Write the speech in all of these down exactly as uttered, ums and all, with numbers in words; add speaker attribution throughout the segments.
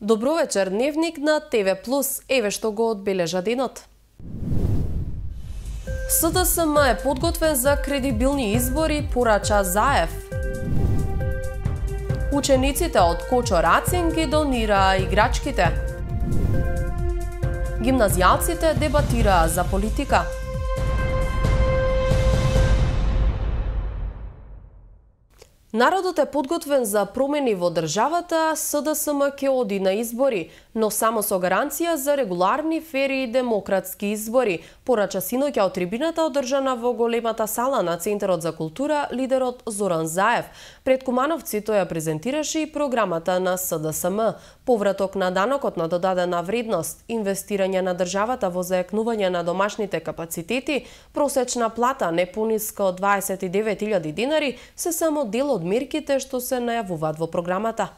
Speaker 1: Добро вечер, дневник на ТВ Плюс, еве што го одбележа денот. СДСМ е подготвен за кредибилни избори, порача Заев. Учениците од Кочо Рацин ги донираа играчките. Гимназијалците дебатираа за политика. Народот е подготвен за промени во државата, СДСМ ќе оди на избори, но само со гаранција за регуларни, фери и демократски избори, порача синоќа од трибината одржана во големата сала на Центарот за култура лидерот Зоран Заев. Пред кумановци тој ја презентираше и програмата на СДСМ, повраток на данокот на додадена вредност, инвестирање на државата во зајакнување на домашните капацитети, просечна плата не пониска од дваесет и девет илјади динари се само дел од мерките што се најавуваат во програмата.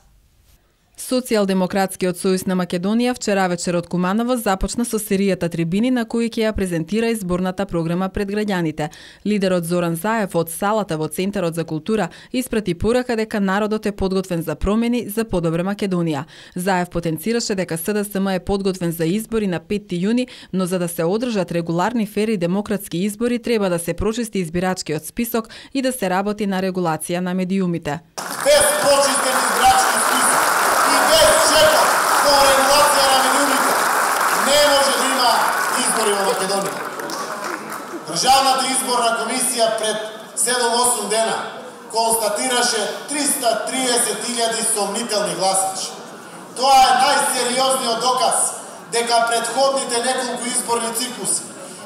Speaker 2: Социјалдемократскиот сојуз на Македонија вчера вечер од Куманово започна со серијата трибини на кои ќе ја презентира изборната програма пред граѓаните. Лидерот Зоран Заев од салата во Центарот за култура испрати порака дека народот е подготвен за промени за подобра Македонија. Заев потенцираше дека СДСМ е подготвен за избори на петти јуни, но за да се одржат регуларни, фери демократски избори треба да се прочисти избирачкиот список и да се работи на регулација на медиумите.
Speaker 3: Без прочистен избирачки список без чекот по регулација на медиумите не може да има избори во Македонија. Државната изборна комисија пред седум-осум дена констатираше триста триесет илјади сомнителни гласачи. Тоа е најсериозниот доказ дека претходните неколку изборни циклуси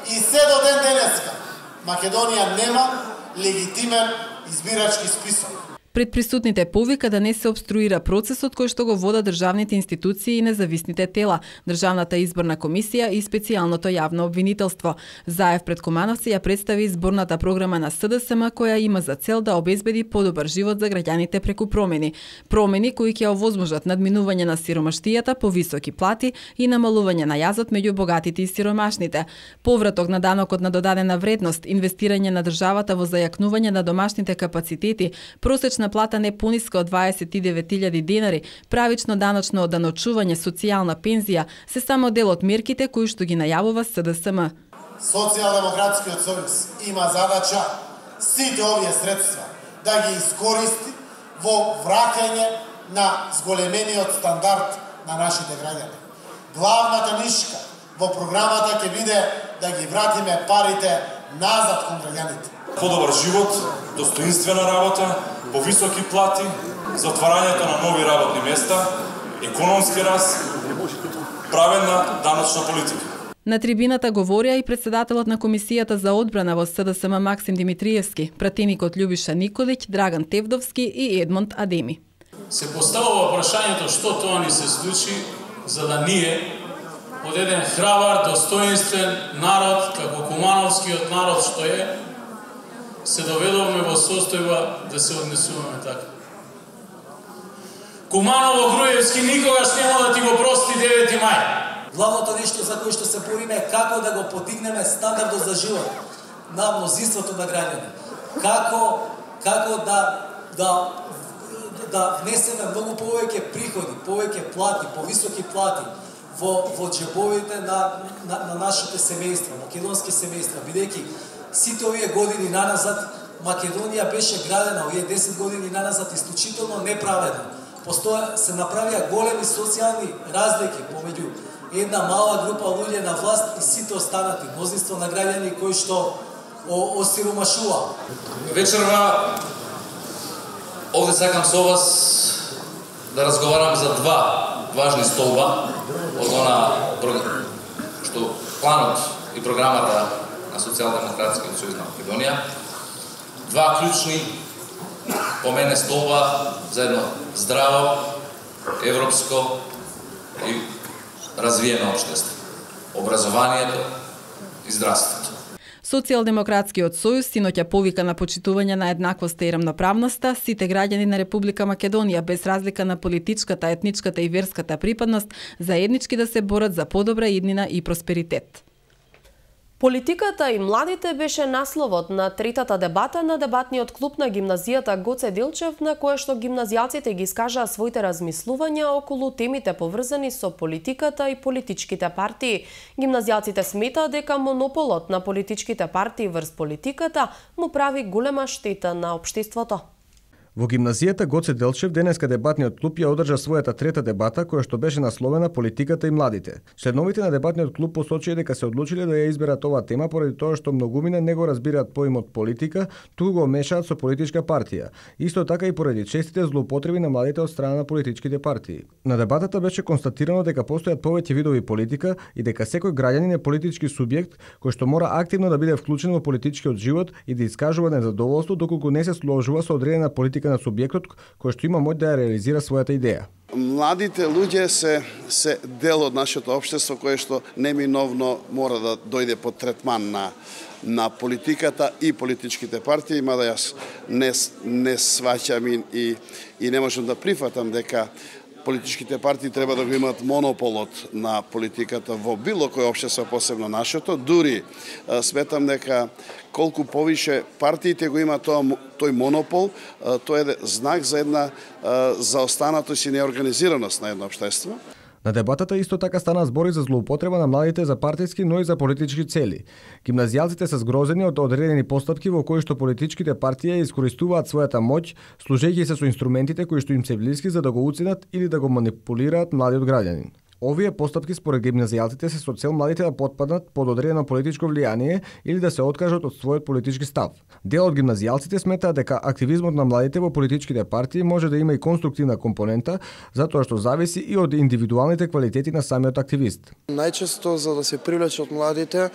Speaker 3: и се до ден денеска Македонија нема легитимен избирачки список.
Speaker 2: Пред присутните повика да не се обструира процесот кој што го водат државните институции и независните тела, Државната изборна комисија и специјалното јавно обвинителство. Заев пред Кумановци ја представи изборната програма на СДСМ која има за цел да обезбеди подобар живот за граѓаните преку промени. Промени кои ќе овозможат надминување на сиромаштијата, повисоки плати и намалување на јазот меѓу богатите и сиромашните. Повраток на данокот на додадена вредност, инвестирање на државата во зајакнување на домашните капацитети, просечна плата не пониска од дваесет и девет илјади денари, правично даночно оданочување, социјална пензија се само дел од мерките кои што ги најавува СДСМ.
Speaker 3: Социјалдемократскиот сојуз има задача сите овие средства да ги искористи во враќање на зголемениот стандард на нашите граѓани. Главната нишка во програмата ќе биде да ги вратиме парите назад кон граѓаните.
Speaker 4: Подобар живот, достоинствена работа, повисоки плати, за отварањето на нови работни места, економски раст, праведна даночна политика.
Speaker 2: На трибината говореа и председателот на Комисијата за одбрана во СДСМ Максим Димитриевски, пратеникот Љубиша Николиќ, Драган Тевдовски и Едмонд Адеми.
Speaker 5: Се поставува прашањето што тоа ни се случи за да ние од еден храбар, достоинствен народ, како кумановскиот народ што е, се доведовме во состојба да се однесуваме така. Куманово Груевски никогаш нема да ти го прости девети мај.
Speaker 6: Главното нешто за кое што се бориме е како да го подигнеме стандардот за живот на мнозинството на граѓани. Како како да да да внесеме многу повеќе приходи, повеќе плати, повисоки плати во во џебовите на на, на нашите семејства, македонски семејства, бидејќи сите овие години наназад Македонија беше градена, овие десет години наназад исклучително неправедно. Постоја се направија големи социјални разлики помеѓу една мала група луѓе на власт и сите останати, мнозинство на граѓани кои што осиромашува.
Speaker 7: Вечерва овде сакам со вас да разговарам за два важни столба од она што планот и програмата на Социјалдемократскиот сојуз на Македонија. Два клучни по мене столба за едно здраво, европско и развиено општество. Образованието и здравството.
Speaker 2: Социјалдемократскиот сојуз синоќа повика на почитување на еднаквоста и рамноправноста, сите граѓани на Република Македонија без разлика на политичката, етничката и верската припадност заеднички да се борат за подобра иднина и просперитет.
Speaker 1: Политиката и младите беше насловот на третата дебата на дебатниот клуб на гимназијата Гоце Делчев, на која што гимназијаците ги искажаа своите размислувања околу темите поврзани со политиката и политичките партии. Гимназијаците сметаат дека монополот на политичките партии врз политиката му прави голема штета на општеството.
Speaker 8: Во гимназијата Гоце Делчев денеска дебатниот клуб ја одржа својата трета дебата која што беше насловена Политиката и младите. Членовите на дебатниот клуб посочија дека се одлучиле да ја изберат оваа тема поради тоа што многумина не го разбираат поимот политика, туку го мешаат со политичка партија. Исто така и поради честите злоупотреби на младите од страна на политичките партии. На дебатата беше констатирано дека постојат повеќе видови политика и дека секој граѓанин е политички субјект кој што мора активно да биде вклучен во политичкиот живот и да искажува незадоволство доколку не се сложува со одредена политика на субјектот кој што има моќ да ја реализира својата идеја.
Speaker 9: Младите луѓе се се дел од нашето општество кое што неминовно мора да дојде под третман на на политиката и политичките партии, мада јас не не сваќам и и не можам да прифатам дека политичките партии треба да го имаат монополот на политиката во било кој општество, посебно нашето. Дури сметам дека колку повише партиите го има тоа, тој монопол, тоа е знак за една заостанатост и неорганизираност на едно општество.
Speaker 8: На дебатата исто така стана збори за злоупотреба на младите за партиски, но и за политички цели. Гимназијалците се згрозени од одредени постапки во кои што политичките партии искористуваат својата моќ, служејќи се со инструментите кои што им се блиски за да го уценат или да го манипулираат младиот граѓанин. Овие постапки според гимназијалците се со цел младите да потпаднат под одредено политичко влијание или да се откажат од својот политички став. Дел од гимназијалците сметаат дека активизмот на младите во политичките партии може да има и конструктивна компонента, затоа што зависи и од индивидуалните квалитети на самиот активист.
Speaker 10: Најчесто за да се привлечат младите,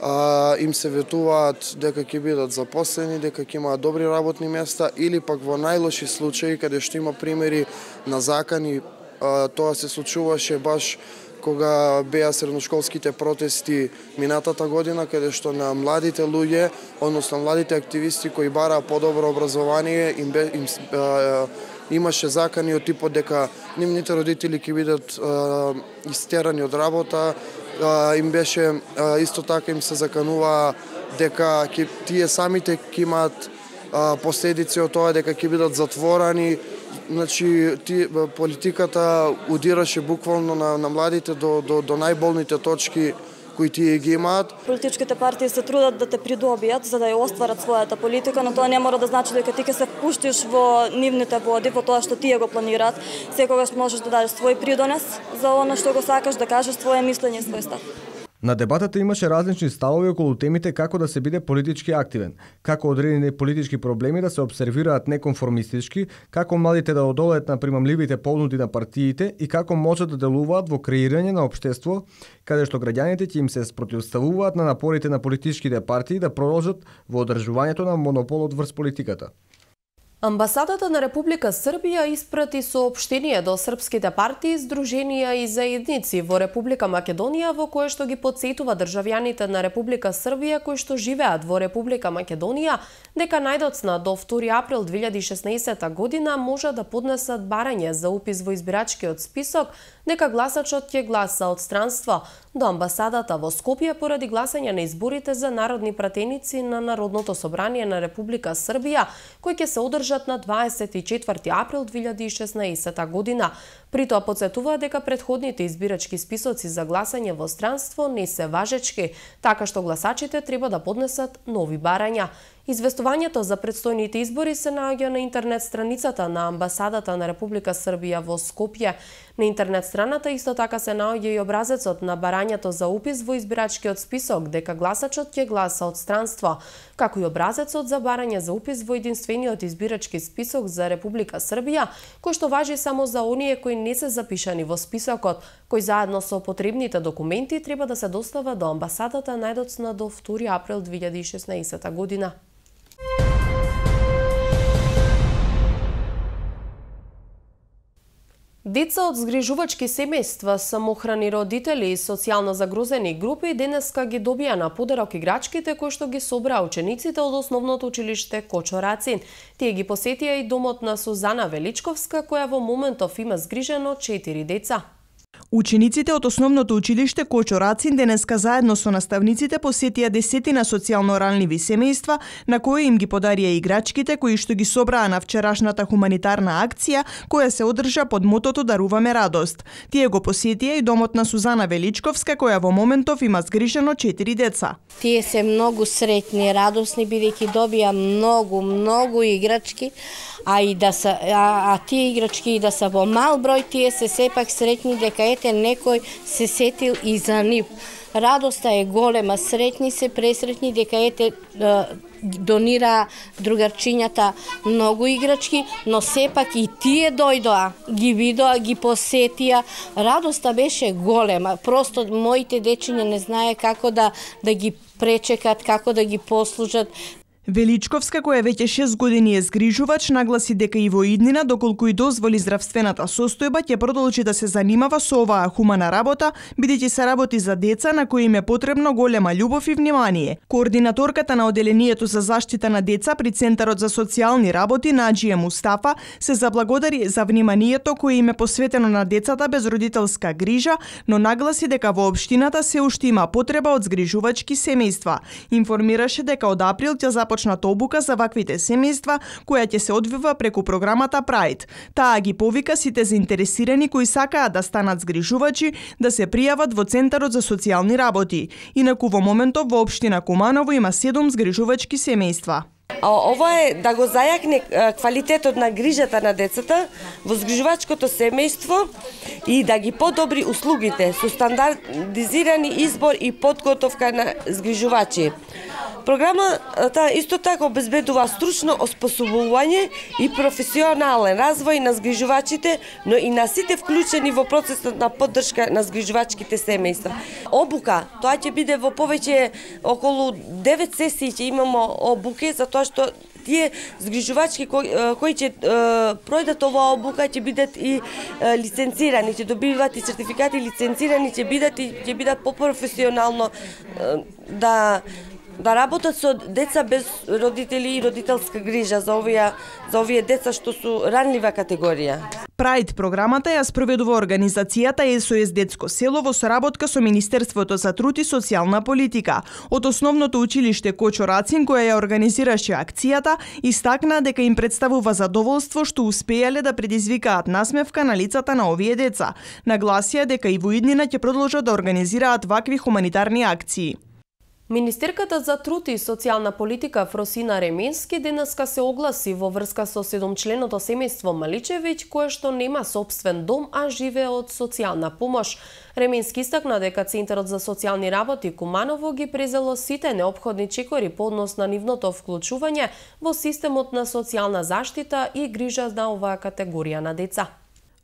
Speaker 10: а, им се ветуваат дека ќе бидат запослени, дека ќе имаат добри работни места или пак во најлоши случаи каде што има примери на закани. Тоа се случуваше баш кога беа средношколските протести минатата година, каде што на младите луѓе, односно младите активисти кои бараа подобро образование, им, бе, им а, имаше закани од типот дека нивните родители ќе бидат а, истерани од работа, а, им беше а, исто така им се заканува дека ќе, тие самите ќе имаат а, последици од тоа, дека ќе бидат затворани. Значи, ти, политиката удираше буквално на, на младите до, до, до најболните точки кои тие ги имаат.
Speaker 11: Политичките партии се трудат да те придобијат за да ја остварат својата политика, но тоа не мора да значи дека ти ќе се впуштиш во нивните води, во тоа што тие го планираат. Секогаш можеш да дадеш свој придонес за оно што го сакаш, да кажеш своје мислење и свој став.
Speaker 8: На дебатата имаше различни ставови околу темите како да се биде политички активен, како одредени политички проблеми да се обсервираат неконформистички, како младите да одолеат на примамливите понуди на партиите и како можат да делуваат во креирање на општество каде што граѓаните ќе им се спротивставуваат на напорите на политичките партии да продолжат во одржувањето на монополот врз политиката.
Speaker 1: Амбасадата на Република Србија испрати соопштение до српските партии, здруженија и заедници во Република Македонија во кое што ги потсетува државјаните на Република Србија кои што живеат во Република Македонија дека најдоцна до втори април две илјади и шеснаесетта година може да поднесат барање за упис во избирачкиот список, дека гласачот ќе гласа од странство до амбасадата во Скопје поради гласање на изборите за народни пратеници на Народното собрание на Република Србија, кои ќе се одржат на дваесет и четврти април две илјади и шеснаесетта година. При тоа потсетува дека претходните избирачки списоци за гласање во странство не се важечки, така што гласачите треба да поднесат нови барања. Известувањето за предстојните избори се наоѓа на интернет страницата на амбасадата на Република Србија во Скопје. На интернет страната исто така се наоѓа и образецот на барањето за упис во избирачкиот список дека гласачот ќе гласа од странство, како и образецот за барање за упис во единствениот избирачки список за Република Србија, кој што важи само за оние кои не се запишани во списокот, кој заедно со потребните документи треба да се достава до амбасадата најдоцна до втори април две илјади и шеснаесетта година. Деца од згрижувачки семејства, самохрани родители и социјално загрозени групи денеска ги добија на подарок играчките кои што ги собраа учениците од основното училиште Кочо Рацин. Тие ги посетија и домот на Сузана Величковска, која во моментов има згрижено четири деца.
Speaker 12: Учениците од основното училиште Кочо Рацин денеска заедно со наставниците посетија десетина социјално ранливи семејства на кои им ги подарија играчките кои што ги собраа на вчерашната хуманитарна акција која се одржа под мотото Даруваме радост. Тие го посетија и домот на Сузана Величковска која во моментов има згрижено четири деца.
Speaker 13: Тие се многу среќни, радосни бидејќи добија многу, многу играчки, а и да се а, а тие играчки и да се во мал број, тие се сепак среќни дека ете некој се сетил и за нив. Радоста е голема, среќни се, пресреќни дека ете донира другарчињата многу играчки, но сепак и тие дојдоа, ги видоа, ги посетија. Радоста беше голема. Просто моите дечиња не знае како да да ги пречекат, како да ги послужат.
Speaker 12: Величковска, која веќе шест години е згрижувач, нагласи дека и во иднина, доколку и дозволи здравствената состојба, ќе продолжи да се занимава со оваа хумана работа, бидејќи се работи за деца на кои им е потребно голема љубов и внимание. Координаторката на Оделението за заштита на деца при Центарот за социјални работи Наџија Мустафа се заблагодари за вниманието кое им е посветено на децата без родителска грижа, но нагласи дека во општината се уште има потреба од згрижувачки семејства. Информираше дека од април ќе започне почната обука за ваквите семејства, која ќе се одвива преку програмата Pride. Таа ги повика сите заинтересирани кои сакаат да станат згрижувачи да се пријават во Центарот за социјални работи. Инаку во моментов во општина Куманово има седум згрижувачки семејства.
Speaker 14: Ова е да го зајакне квалитетот на грижата на децата во згрижувачкото семејство и да ги подобри услугите со стандардизирани избор и подготовка на згрижувачи. Програмата исто така обезбедува стручно оспособување и професионален развој на згрижувачите, но и на сите вклучени во процесот на поддршка на згрижувачките семејства. Обука, тоа ќе биде во повеќе околу девет сесии ќе имамо обуки, затоа што тие згрижувачки кои, кои ќе пројдат оваа обука ќе бидат и лиценцирани, ќе добиваат и сертификати, лиценцирани ќе бидат и ќе бидат попрофесионално да да работат со деца без родители и родителска грижа за овие за овие деца што су ранлива категорија.
Speaker 12: Pride програмата ја спроведува организацијата Ес О Ес Детско село во соработка со Министерството за труд и социјална политика. Од основното училиште Кочо Рацин, која ја организираше акцијата, истакна дека им представува задоволство што успеале да предизвикаат насмевка на лицата на овие деца. Нагласија дека и во иднина ќе продолжат да организираат вакви хуманитарни акции.
Speaker 1: Министерката за труд и социјална политика Фросина Ременски денеска се огласи во врска со седумчленото семејство Маличевиќ, кое што нема сопствен дом, а живее од социјална помош. Ременски истакна дека Центарот за социјални работи Куманово ги презело сите неопходни чекори по однос на нивното вклучување во системот на социјална заштита и грижа на оваа категорија на деца.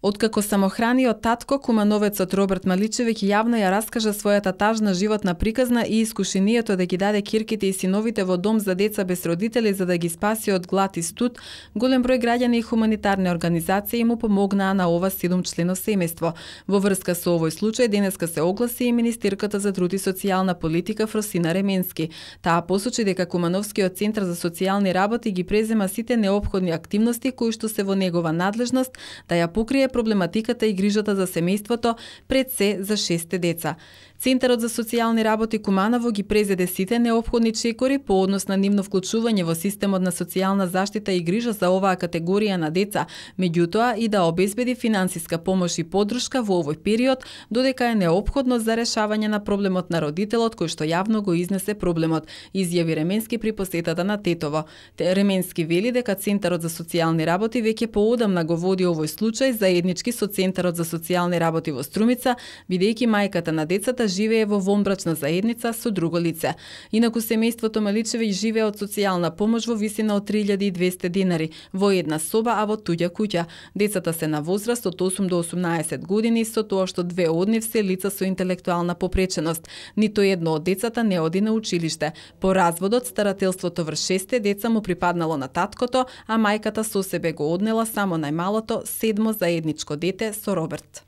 Speaker 2: Откако самохраниот татко, кумановецот Роберт Маличевиќ јавно ја раскажа својата тажна животна приказна и искушението да ги даде кирките и синовите во дом за деца без родители за да ги спаси од глад и студ, голем број граѓани и хуманитарни организации му помогнаа на ова седумчлено семејство. Во врска со овој случај денеска се огласи и Министерката за труд и социјална политика Фросина Ременски. Таа посочи дека Кумановскиот центар за социјални работи ги презема сите неопходни активности кои што се во негова надлежност да ја покрие проблематиката и грижата за семејството, пред се за шесте деца. Центарот за социјални работи Куманово ги презеде сите неопходни чекори по однос на нивно вклучување во системот на социјална заштита и грижа за оваа категорија на деца, меѓутоа и да обезбеди финансиска помош и поддршка во овој период, додека е неопходно за решавање на проблемот на родителот кој што јавно го изнесе проблемот, изјави Ременски при посетата на Тетово. Ременски вели дека Центарот за социјални работи веќе поодамна го води овој случај заеднички со Центарот за социјални работи во Струмица, бидејќи мајката на децата живее во вонбрачна заедница со друго лице. Инаку семејството Маличевиќ живее од социјална помош во висина од три илјади и двесте денари во една соба, а во туѓа куќа. Децата се на возраст од осум до осумнаесет години, со тоа што две од нив се лица со интелектуална попреченост. Нито едно од децата не оди на училиште. По разводот старателството врз шесте деца му припаднало на таткото, а мајката со себе го однела само најмалото седмо заедничко дете со Роберт.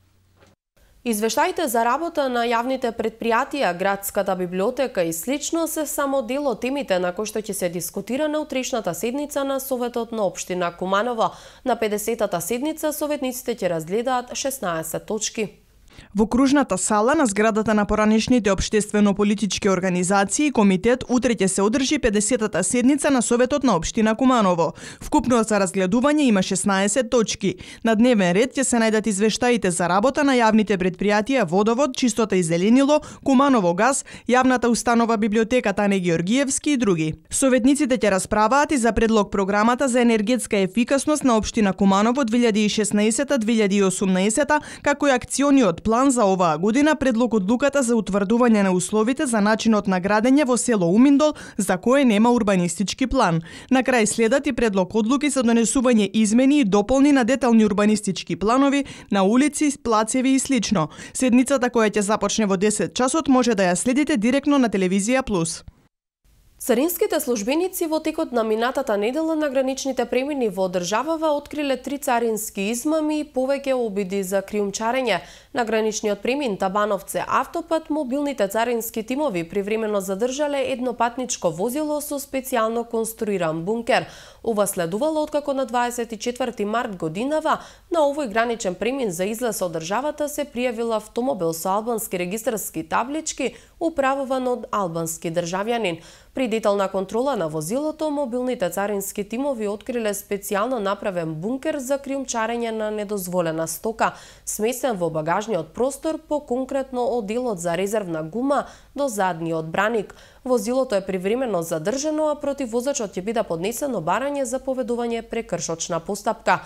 Speaker 1: Извештаите за работа на јавните предпријатија, градската библиотека и слично се само дел од темите на кои што ќе се дискутира на утрешната седница на Советот на општина Куманово. На педесетата седница советниците ќе разгледаат шеснаесет точки.
Speaker 12: Во кружната сала на зградата на поранешните општествено-политички организации и комитет утре ќе се одржи педесетата седница на Советот на општина Куманово. Вкупно за разгледување има шеснаесет точки. На дневен ред ќе се најдат извештаите за работа на јавните предпријатија Водовод, Чистота и зеленило, Куманово газ, јавната установа библиотека Тане Георгиевски и други. Советниците ќе расправаат и за предлог програмата за енергетска ефикасност на општина Куманово две илјади и шеснаесета - две илјади и осумнаесета, како и акциониот план за оваа година, предлог одлуката за утврдување на условите за начинот на градење во село Уминдол, за кое нема урбанистички план. На крај следат и предлог одлуки за донесување измени и дополни на детални урбанистички планови на улици, плацеви и слично. Седницата која ќе започне во десет часот може да ја следите директно на Телевизија Плюс.
Speaker 1: Царинските службеници во текот на минатата недела на граничните премини во државава откриле три царински измами и повеќе обиди за криумчарење. На граничниот премин Табановце автопат мобилните царински тимови привремено задржале едно патничко возило со специјално конструиран бункер. Ова следувало откако на дваесет и четврти март годинава на овој граничен премин за излез од државата се пријавил автомобил со албански регистарски таблички управуван од албански државјанин. При детална контрола на возилото, мобилните царински тимови откриле специјално направен бункер за криумчарење на недозволена стока, сместен во багажниот простор по конкретно од делот за резервна гума до задниот браник. Возилото е привремено задржано, а против возачот ќе биде поднесено барање за поведување прекршочна постапка.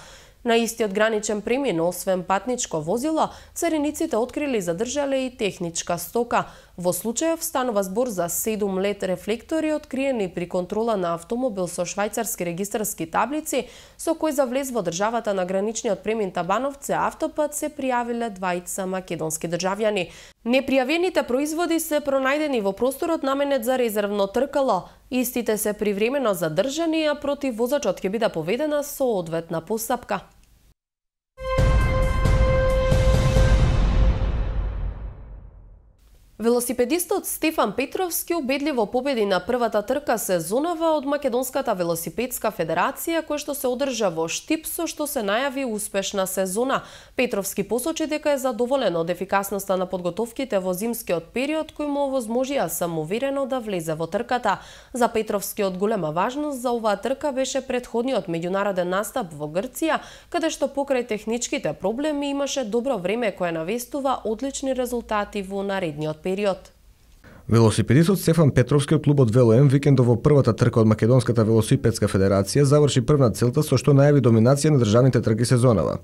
Speaker 1: На истиот граничен премин, освен патничко возило, цариниците открили и задржале и техничка стока. Во случајов станува збор за седум лед рефлектори откриени при контрола на автомобил со швајцарски регистарски таблици, со кој за влез во државата на граничниот премин Табановце автопат се пријавиле двајца македонски државјани. Непријавените производи се пронајдени во просторот наменет за резервно тркало. Истите се привремено задржани, а против возачот ќе биде поведена соодветна постапка. Велосипедистот Стефан Петровски убедливо победи на првата трка сезонава од Македонската велосипедска федерација, која што се одржа во Штип, со што се најави успешна сезона. Петровски посочи дека е задоволен од ефикасноста на подготовките во зимскиот период, кој му овозможија самоуверено да влезе во трката. За Петровски од голема важност за оваа трка беше претходниот меѓународен настап во Грција, каде што покрај техничките проблеми имаше добро време кое навестува одлични резултати во наредниот период.
Speaker 8: Велосипедистот Стефан Петровски од клубот Велоем викендов во првата трка од Македонската велосипедска федерација заврши прв на целта, со што најави доминација на државните трки сезонава.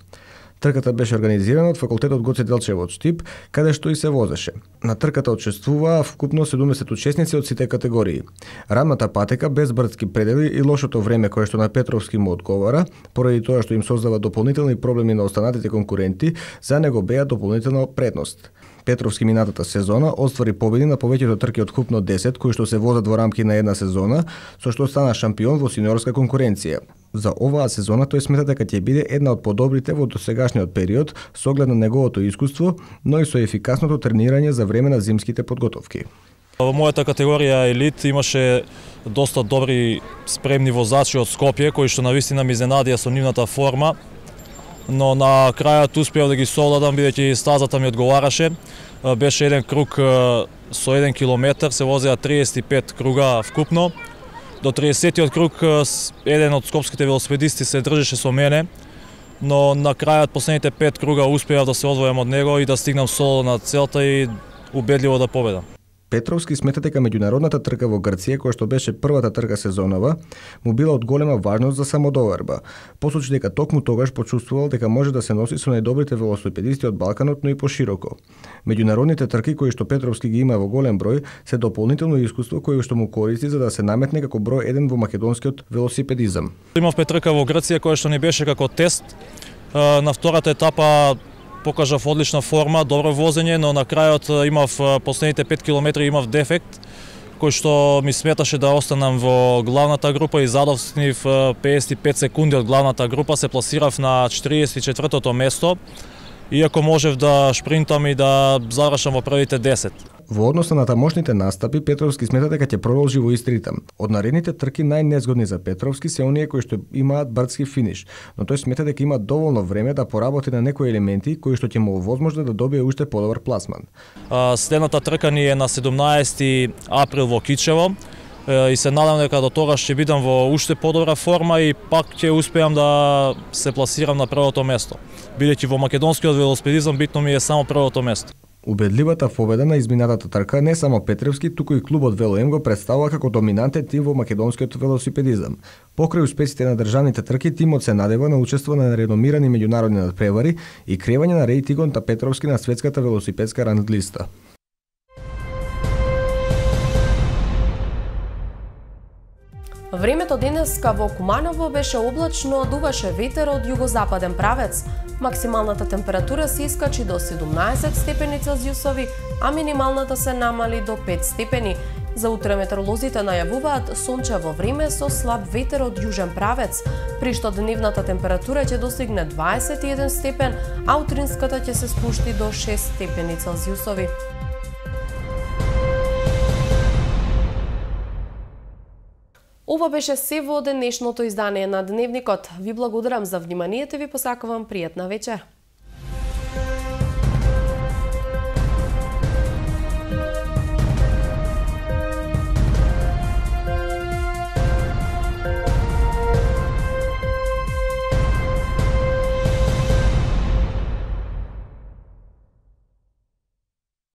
Speaker 8: Трката беше организирана од факултетот Гоце Делчев од Штип, каде што и се возеше. На трката учествуваа вкупно седумдесет учесници од сите категории. Рамната патека без брдски предели и лошото време кое што на Петровски му одговара, поради тоа што им создава дополнителни проблеми на останатите конкуренти, за него беа дополнителна предност. Петровски минатата сезона оствари победи на повеќето трки од вкупно десет кои што се возат во рамки на една сезона, со што стана шампион во сениорска конкуренција. За оваа сезона тој смета дека ќе биде една од подобрите во досегашниот период со оглед на неговото искуство, но и со ефикасното тренирање за време на зимските подготовки.
Speaker 15: Во мојата категорија елит имаше доста добри спремни возачи од Скопје кои што навистина ме изненадија со нивната форма, но на крајот успеав да ги совладам бидејќи стазата ми одговараше. Беше еден круг со еден километар, се возеа триесет и пет круга вкупно. До триесетиот круг еден од скопските велосипедисти се држеше со мене, но на крајот последните пет круга успеав да се одвојам од него и да стигнам соло на целта и убедливо да победам.
Speaker 8: Петровски смета дека меѓународната трка во Грција, која што беше првата трка сезонова, му била од голема важност за самодоверба. Посочи дека токму тогаш почувствувал дека може да се носи со најдобрите велосипедисти од Балканот, но и пошироко. Меѓународните трки кои што Петровски ги има во голем број се дополнително искуство кое што му користи за да се наметне како број еден во македонскиот велосипедизам.
Speaker 15: Имавме трка во Грција која што ни беше како тест. На втората етапа покажав одлична форма, добро возење, но на крајот имав последните пет километри имав дефект кој што ми сметаше да останам во главната група и задовснив педесет и пет секунди од главната група, се пласирав на четиридесет и четвртото место, иако можев да шпринтам и да завршам во првите десет.
Speaker 8: Во однос на тамошните настапи, Петровски смета дека ќе продолжи во ист ритам. Од наредните трки најнезгодни за Петровски се оние кои што имаат брдски финиш, но тој смета дека има доволно време да поработи на некои елементи кои што ќе му овозможат да добие уште подобар пласман.
Speaker 15: Следната трка ни е на седумнаесети април во Кичево и се надам дека до тогаш ќе бидам во уште подобра форма и пак ќе успеам да се пласирам на првото место. Бидејќи во македонскиот велосипедизам битно ми е само првото место.
Speaker 8: Убедливата победа на изминатата трка не само Петревски, туку и клубот Велоем го представува како доминантен тим во македонскиот велосипедизам. Покрај успесите на државните трки, тимот се надева на учествување на реномирани меѓународни надпревари и креирање на рейтингот на Петровски на светската велосипедска ранглиста.
Speaker 1: Времето денеска во Куманово беше облачно, дуваше ветер од југозападен правец. Максималната температура се искачи до седумнаесет степени Целзиусови, а минималната се намали до пет степени. За утре метеоролозите најавуваат сончево време со слаб ветер од јужен правец, при што дневната температура ќе достигне дваесет и еден степен, а утринската ќе се спушти до шест степени Целзиусови. Ова беше се во денешното издание на Дневникот. Ви благодарам за вниманието и ви посакувам пријатна вечер.